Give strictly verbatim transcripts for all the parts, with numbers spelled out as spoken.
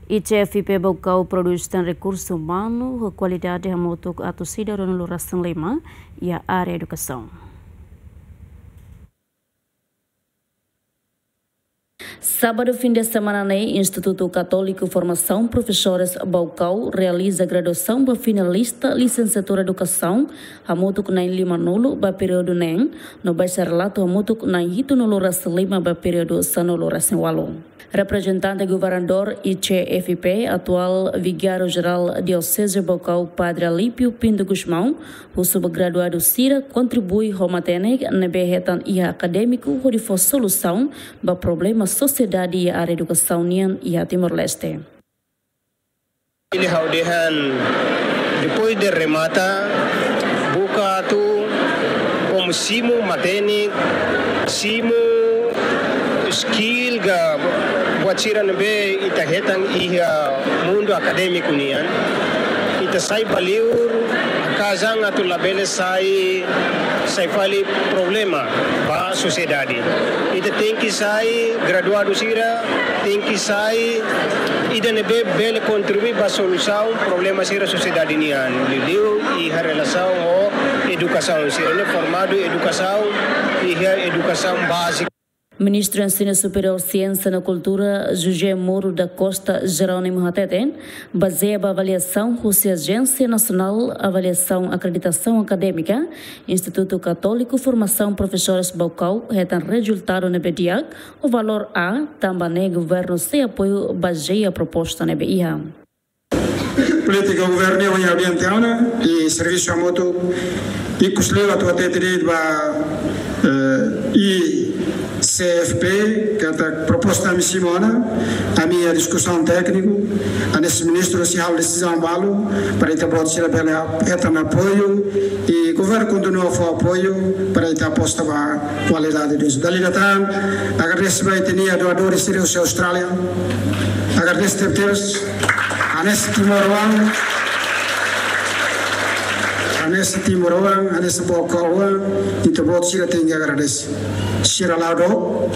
I C F I P Baucau prodús tan rekursu umanu ho kualidade hamutuk atus ida ruanulu-resin-lima iha área edukasaun. Sábadu fin de semana ne'e, Institutu Katóliku Formasaun Profesores Baucau realiza graduasaun ba finalista lisensiatura edukasaun hamutuk na'in limanulu ba períodu neen, no bacharelatu hamutuk na'in hitunulu-resin-lima ba períodu sanulu-resin-ualu. Reprezentante Governadór I C F I P, atuál Vigáriu Jerál Dioseze Baucau, Padre Alípio Pinto Gusmão, husu ba graduadu sira kontribui ho matenek ne'ebé hetan iha akadémiku hodi fó solusaun ba problema sosiedade iha área edukasaun nian iha Timor-Leste. Ili ha'u dehan, depois de remata, buka atu komu simu matenek, simu skill ka buat sira ne'ebé ita hetan iha mundu akadémiku nian. Ita sai ba liur, kazang atu labele sai, sai fali problema ba sosiedade. Ita tenke sai graduadu sira, tenke sai ida ne'ebé bele kontribui ba solusaun problema sira sosiedade nian. Liuliu iha relasaun ho edukasaun, sira ne'e formadu edukasaun, iha edukasaun bázika. Ministru Ensinu Superiór, Siénsia no Kultura, José Moro da Costa Jerónimo hateten, bazeia ba avaliasaun husi Ajénsia Nasionál Avaliasaun Akreditasaun Akadémika, Institutu Katóliku Formasaun Profesores Baucau hetan rezultadu ne'ebé di'ak, ho valór A, tanba ne'e governu sei apoiu bazeia proposta ne'ebé iha. Polítika governu iha ambiente ona, i servisu hamutuk, ikus liu atu hatete de'it ba, eh, I C F P, katak proposta ami simu ona, ami iha diskusaun tékniku, hanesan ministru sei halo desizaun balu, para ita-boot sira bele hetan apoiu, i governu kontinua fó apoiu, para ita aposta ba kualidade dos. Dala ida tan, agradese ba ita-nia doadores sira husi Austrália. Agradese tebetebes. Hanesan timoroan, hanesan timoroan, hanesan baucauan, ita-boot sira tenke agradese. Sira la'o dook,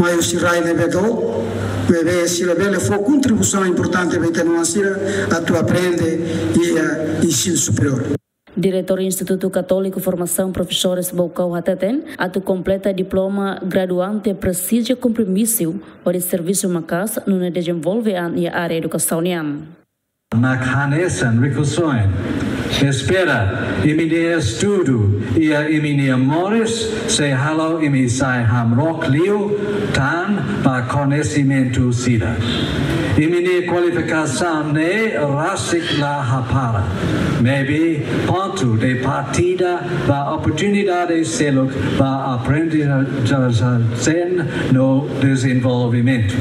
mai husi rai ne'ebé dook, maibé sira bele fó kontribuisaun importante ba ita-nia oan sira atu aprende iha ensinu superiór. Diretór Institutu Katóliku Formasaun Profesores Baucau hateten, atu kompleta diploma, graduante presiza kompromisu hodi servisu maka'as nune'e dezenvolve an iha área edukasaun nian. Mak hanesan rikusoin, espera imi-nia estudu iha imi-nia moris sei halo imi sai hamrook liu tan ba koñesimentu sira. Imi-nia kualifikasaun ne'e rasik la hapara. Maibé pontu de partida ba oportunidade seluk ba aprendizajen no dezenvolvimentu.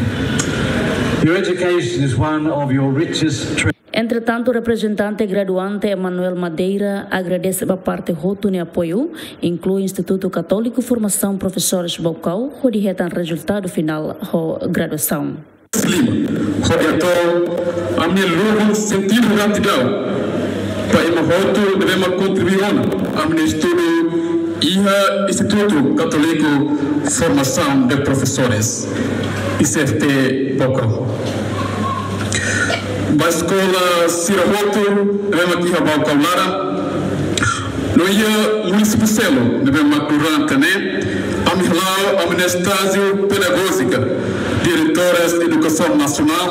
Your education is one of your richest treasures. Entretantu, reprezentante graduante Emanuel Madeira agradese ba parte hotu nia apoiu, inklui Institutu Katóliku Formasaun Profesores Baucau, hodi hetan rezultadu finál ho graduasaun. Lima, hodi hato'o ami-nia lubuk sentidu gratidaun ba ema hotu ne'ebé mak kontribui ona ami-nia estudu iha Institutu Katóliku Formasaun de Profesores, I C F P Baucau. Ba eskola sira hotu ne'ebé mak iha Baucau laran, no iha munisípiu seluk ne'ebé mak durante ne'e, ami hala'o ami-nia estájiu pedagójika, diretores edukasaun nasionál,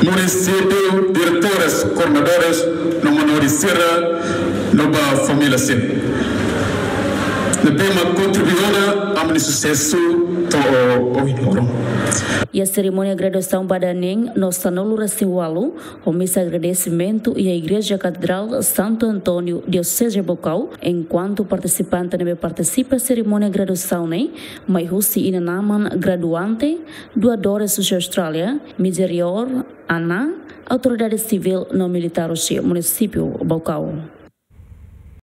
munisípiu, diretores, koordenadores, no manorin sira, no ba família sira ne'ebé mak kontribui ona ami-nia susesu to'o ohin loron. Iha serimónia graduasaun ba dala neen no sanulu-resin-ualu, ho misa agradesimentu iha Igreja Katedrál Santo António, Dioseze Baucau, enkuantu partisipante ne'ebé partisipa serimónia graduasaun ne'e mai husi inan-aman graduante, doadores husi Austrália, Misericórdia, ANA, autoridade sivíl no militár husi munisípiu Baucau.